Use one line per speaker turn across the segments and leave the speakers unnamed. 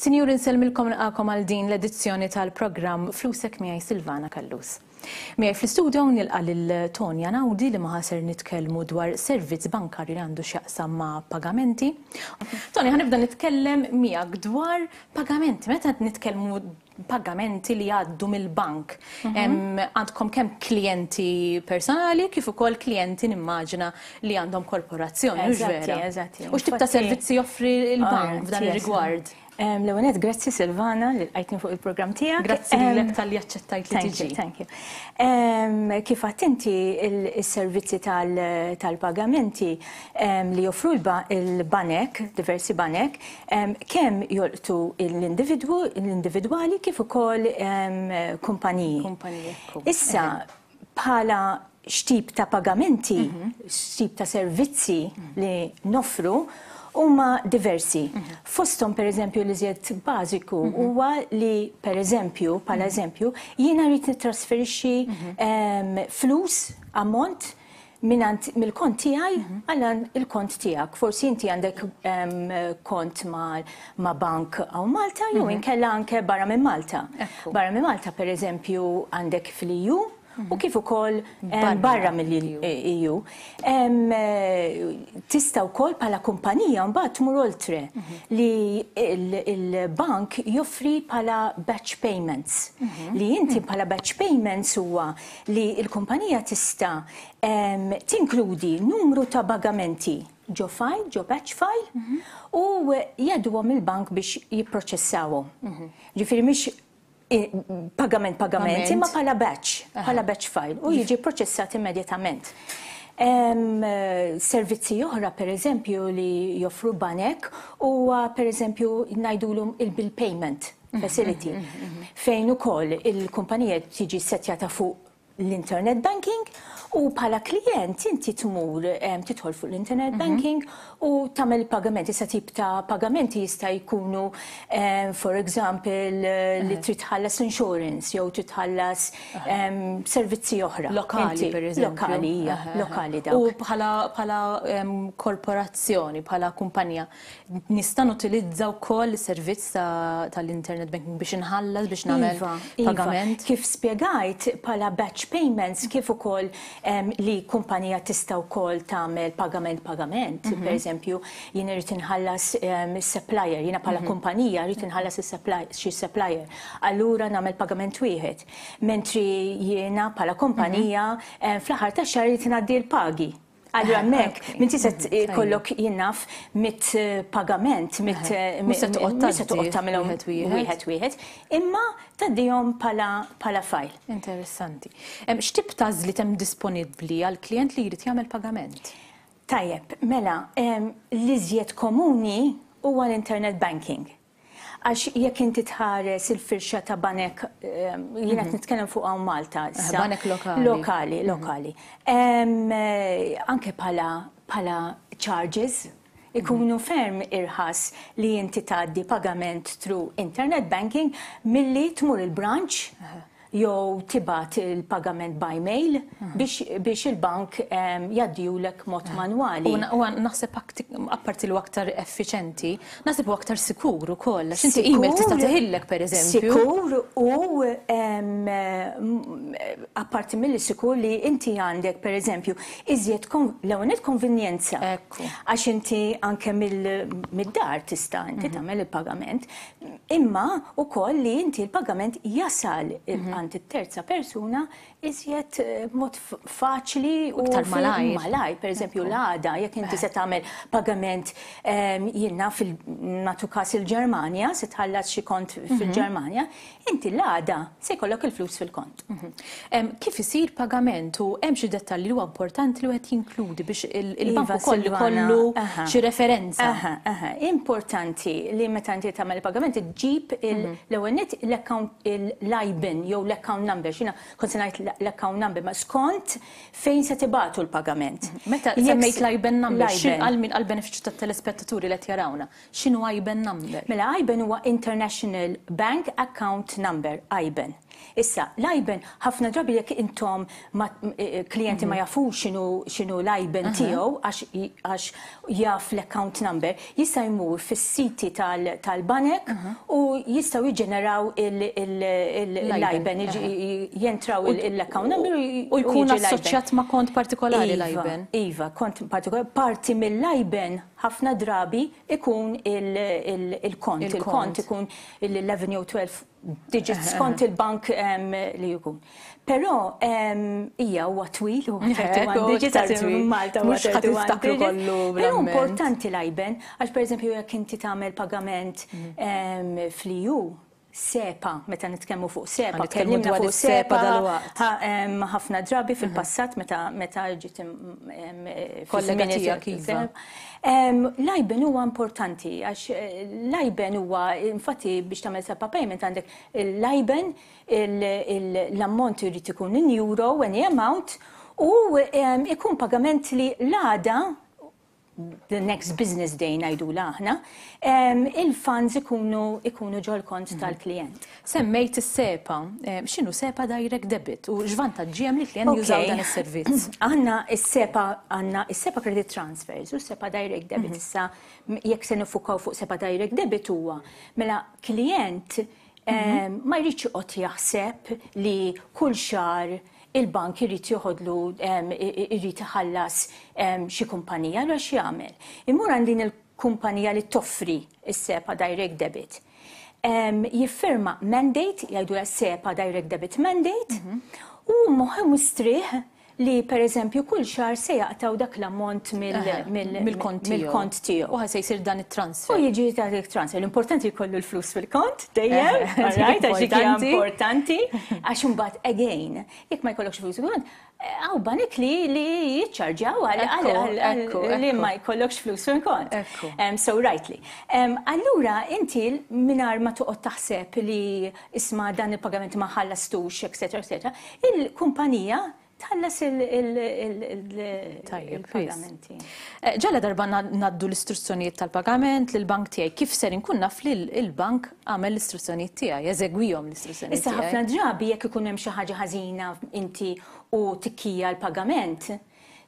Sinjuri nsellmilkom nilqagħkom għal din l-edizzjoni tal-programm Flusek miegħi Silvana Callus. Miegħi fl-istudio nilqa' lil Tonya Naudi li magħha ser nitkellmu dwar servizz bankarju li għandu x'jaqsam ma' pagamenti. Tonya ħa nibda nitkellem miegħek dwar pagamenti. Meta nitkellmu pagamenti li jgħaddu mill-bank. Għandkom kemm klijenti personali kif ukoll klijenti nimmaġina li għandhom korporazzjoni, hux vera?
Eżatti.
U x'tip ta' servizzi joffri l-bank f'dan ir-rigward?
L-ewwel nett, grazzi Silvana li lqajtni fuq il-programm tiegħek.
Grazzi lilek talli aċċettajt li tiġi.
Thank you, thank you. Kif għedt inti is-servizzi tal-pagamenti li joffru l-banek, diversi banek, kemm jolqtu l-individwu, l-individwali kif ukoll kumpaniji.
Kumpaniji, ekku.
Issa, bħala x'tip ta' pagamenti, x'tip ta' servizzi li noffru huma diversi. Fosthom pereżempju l-iżjed bażiku huwa li pereżempju, bħala eżempju, jiena rrid nittrasferixxi flus, ammont, mingħand mill-kont tiegħi għal il-kont tiegħek. Forsi inti għandek kont ma' bank hawn Malta jew inkella anke barra minn Malta. Barra minn Malta pereżempju għandek fl-EU u kif ukoll barra mill-EU. Tista' wkoll bħala kumpanija mbagħad tmur oltre li l-bank joffri bħala batch payments. Li inti bħala batch payments huwa li l-kumpanija tista' tinkludi numru ta' pagamenti ġo file, ġo batch file, u jgħadduhom il-bank biex jipproċessawhom. Ġifieri mhix pagament pagament, imma bħala batch, bħala batch file, u jiġi proċessat immedjatament. Servizzi oħra, per eżempju, li joffru banek huwa per eżempju ngħidulhom il-bill payment facility, fejn ukoll il-kumpanija tiġi settjata fuq l-internet banking u bħala klient inti tmur tidħol fuq l-internet banking u tagħmel pagamenti. Issa tip ta' pagamenti jista' jkunu for example li trid tħallas insurance jew trid tħallas servizzi oħra.
Lokali, per eżempju.
Lokali, hija, lokali dawk.
U bħala korporazzjoni, bħala kumpanija, nista' nutilizza wkoll is-servizz tal-internet banking biex inħallas, biex nagħmel
Iva.
pagament?
Kif spjegajt bħala batch payments kif ukoll li kumpanija tista' wkoll tagħmel pagament pagament. Per eżempju, jien irid inħallas is-supplier, jiena bħala kumpanija rrid inħallas xi supplier. Allura nagħmel pagament wieħed. Mentri jiena bħala kumpanija fl-aħħar tax-xahar irid ngħaddi l-pagi. Allura hemmhekk, minn tista' jkollok jien naf mit pagament, mit
Mhux se toqgħod
mhux se toqgħod tagħmilhom
wieħed wieħed.
wieħed wieħed, imma tgħaddihom bħala file.
Interessanti. X'tip ta' għażliet hemm disponibbli għal klient li jrid jagħmel pagament?
Tajjeb, mela, l-iżjed komuni huwa l-internet banking. Għax jekk inti tħares il-firxa ta' banek, jiena qed nitkellem fuq hawn Malta issa.
Banek lokali.
Lokali, lokali. Anke bħala charges, ikunu ferm irħas li inti tgħaddi pagament through internet banking milli tmur il-branch jew tibgħat il-pagament by mail biex il-bank jgħaddihulek mod manwali.
U naħseb apparti li aktar effiċenti, naħseb u aktar sikur ukoll, għax inti email tista' teħillek pereżempju.
Sikur u apparti milli sikur li inti għandek pereżempju iżjed l-ewwel nett konvenjenza. Għax inti anke mid-dar tista' inti tagħmel il-pagament, imma ukoll li inti l-pagament jasal għand it-terza persuna iżjed mod faċli u
Iktar malajr.
Malajr, per eżempju l-għada, jekk inti se tagħmel pagament jiena nagħtu każ il-Ġermanja, se tħallas xi kont fil-Ġermanja, inti l-għada se jkollok il-flus fil-kont.
Kif isir pagament u hemm xi dettalji li huwa importanti li wieħed jinkludi biex il-bank ukoll ikollu xi referenza?
Aha. Importanti li meta inti tagħmel il-pagament ġġib l-ewwel nett l-account l-IBAN jew l-account number. Xina kont se ngħid l-account number, ma skont fejn se tibagħtu l-pagament.
Meta semmejt l-IBAN number, għal min għall-benefiċċju tat-telespettaturi li qed jarawna, x'inhu IBAN number?
Mela IBAN huwa International Bank Account Number, IBAN. Issa, l-IBAN ħafna drabi jekk intom klijenti ma jafux x'inhu l-IBAN tiegħu għax jaf l-account number, jista' jmur fis-siti tal-banek u jistgħu jiġġeneraw l-IBAN, jentraw l-account number
u jkun assoċjat ma' kont partikolari l-IBAN.
Iva, kont partikolari. Parti mill-IBAN ħafna drabi ikun il-kont. Il-kont ikun il-11 jew 12 digits skont il-bank li jkun. Però hija huwa twil u 31 digits Malta
mhux ħa tiftakru kollu.
Però importanti l-IBAN għax pereżempju jekk inti tagħmel pagament fl-EU SEPA, meta nitkellmu fuq SEPA,
tkellimna fuq SEPA dalwaqt.
Ħafna drabi fil-passat meta ġiet
kollega tiegħek iva.
L-IBAN huwa importanti għax l-IBAN huwa infatti biex tagħmel SEPA payment għandek l-IBAN, l-ammont irid ikun in euro, any amount, u ikun pagament li l-għada, the next business day ngħidu aħna, il-funds ikunu ġol-kont tal-klient.
Semmejt is-SEPA, x'inhu SEPA Direct Debit u x'vantaġġi hemm li klient jużaw dan is-servizz?
Għandna is-SEPA, għandna is-SEPA Credit Transfers u SEPA Direct Debit. Issa jekk se nifukaw fuq SEPA Direct Debit huwa mela klient ma jridx joqgħod jaħseb li kull xahar il-bank irid joħodlu, irid iħallas xi kumpanija, allura x'jagħmel? Imur għand din il-kumpanija li toffri is-SEPA Direct Debit. Jiffirma mandate, jgħidu SEPA Direct Debit Mandate, u moħħu mistrieħ li per eżempju kull xahar se jaqtaw dak l-ammont
mill-kont
tiegħu.
U se jsir dan it-transfer.
U jiġi dan it-transfer. L-importanti jkollu l-flus fil-kont dejjem, right, għax dik hija importanti, għax imbagħad again, jekk ma jkollokx flus fil-kont, hawn banek li jiċċarġjaw għal li ma jkollokx flus fil-kont. So rightly. Allura inti mingħajr ma toqgħod taħseb li isma' dan il-pagament ma ħallastux, eccetera, eccetera, il-kumpanija tħallas il-pagamenti.
Ġala darba ngħaddu l-istruzzjonijiet tal-pagament lill-bank tiegħi, kif ser inkun naf li l-bank għamel l-istruzzjonijiet tiegħi, jeżegwihom l-istruzzjonijiet
Issa ħafna drabi jekk ikun hemm xi ħaġa ħażina inti u tikkija l-pagament,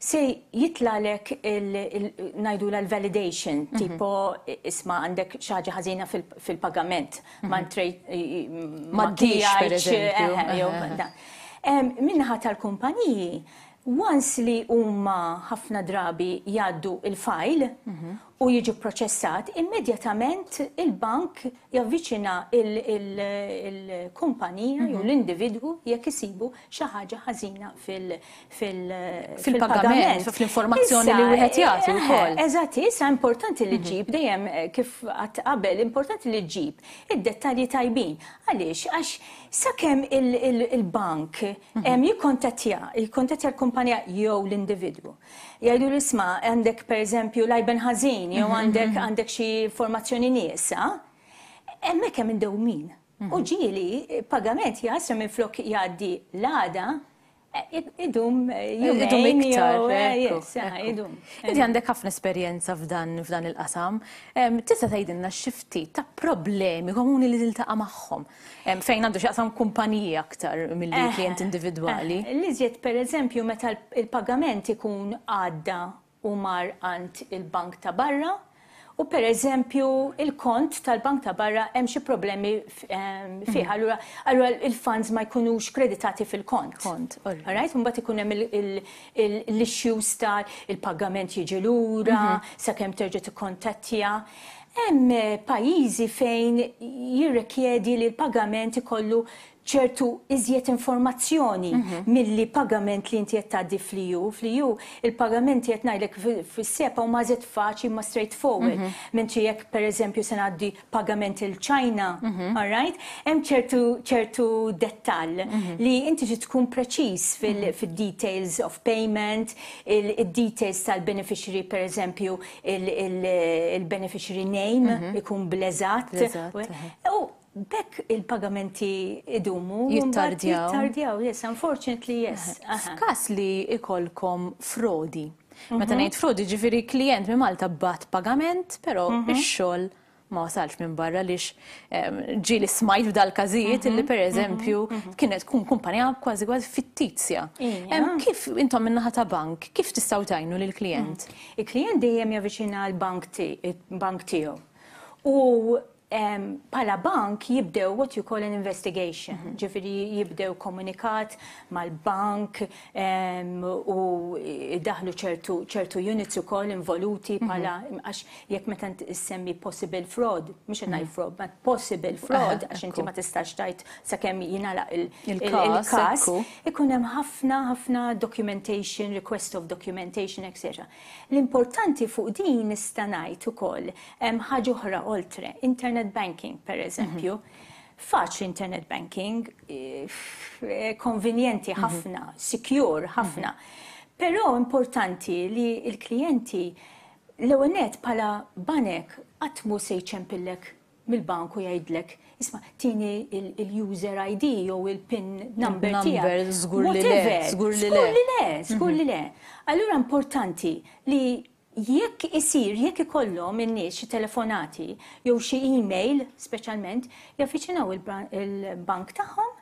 se jitlalek ngħidu l-validation, tipo isma' għandek xi ħaġa ħażina fil-pagament, ma
ma per eżempju.
Min-naħa tal-kumpaniji, once li huma ħafna drabi jgħaddu il-file u jiġu proċessat, immedjatament il-bank javviċina il-kumpanija jew l-individwu jekk isibu xi ħaġa ħażina
fil-pagament, fl-informazzjoni li wieħed jagħti wkoll.
Eżatt, issa importanti li ġġib dejjem kif għedt qabel, importanti li ġġib id-dettalji tajbin. Għaliex? Għax sakemm il-bank jikkontattja l-kumpanija jew l-individwu. Jgħidu l-isma' għandek per eżempju l-IBAN ħażin jew għandek xi informazzjoni nieqsa, hemmhekk hemm indewmin. U ġieli pagament jasra minn flok jgħaddi l-għada, idum
idum iktar. Idum. Inti għandek ħafna esperjenza f'dan il-qasam. Tista' tgħidilna xi ftit ta' problemi komuni li tiltaqa' magħhom fejn għandu x'jaqsam kumpaniji aktar milli klient individwali?
L-iżjed per eżempju meta il-pagament ikun għadda u mar għand il-bank ta' barra, u per eżempju il-kont tal-bank ta' barra hemm xi problemi fih, allura il-funds ma jkunux kreditati fil-kont.
Kont,
Alright, mbagħad ikun hemm l-issues ta' il-pagament jiġi lura, sakemm terġa' tikkontattja. Hemm pajjiżi fejn jirrikjedi li l-pagament ikollu ċertu iżjed informazzjoni milli pagament li inti qed tgħaddi fl-EU. Fl-EU il-pagamenti qed ngħidlek fis-SEPA huma iżjed faċli ma straightforward. Mentri jekk pereżempju se ngħaddi pagament il-China, all right? Hemm ċertu dettall li inti trid tkun preċiż fil-details of payment, il-details tal-beneficiary pereżempju il-beneficiary name ikun bl-eżatt. U B'hekk il-pagamenti idumu.
Jittardjaw.
Jittardjaw, yes, unfortunately, yes.
F'każ li ikolkom frodi. Meta ngħid frodi ġifieri klient minn Malta bagħat pagament, però ix-xogħol ma wasalx minn barra għaliex ġieli smajt f'dal-każijiet illi pereżempju kienet tkun kumpanija kważi kważi fittizja. Kif intom min-naħa ta' bank, kif tistgħu tgħinu lill-klijent?
Il-klijent dejjem javviċina l-bank tiegħu. U Bħala bank jibdew what you call an investigation, ġifieri jibdew komunikat mal-bank u jdaħħlu ċertu ċertu units ukoll involuti bħala għax jekk meta ssemmi possible fraud, mhux qed ngħid fraud, ma possible fraud għax inti ma tistax tgħid sakemm jingħalaq il-każ, ikun hemm ħafna ħafna documentation, request of documentation, etc. L-importanti fuq din nista' ngħid ukoll hemm ħaġa oħra oltre, internet banking pereżempju. Faċli internet banking, konvenjenti ħafna, secure ħafna. Però importanti li l-klijenti l-ewwel nett bħala banek qatt mhu se jċempillek mill-bank u jgħidlek, isma' tini il-user ID jew il-PIN number tiegħek.
Żgur li le.
Żgur li le. Żgur li le, żgur li le. Allura importanti li jekk isir, jekk ikollhom in-nies xi telefonati jew xi email speċjalment, javviċinaw il-bank tagħhom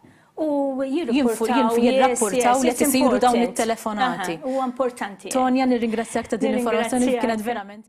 u jirrapportaw
jirrapportaw li qed isiru dawn it-telefonati.
Huwa importanti.
Tonya, nirringrazzjak ta' din l-informazzjoni kienet verament.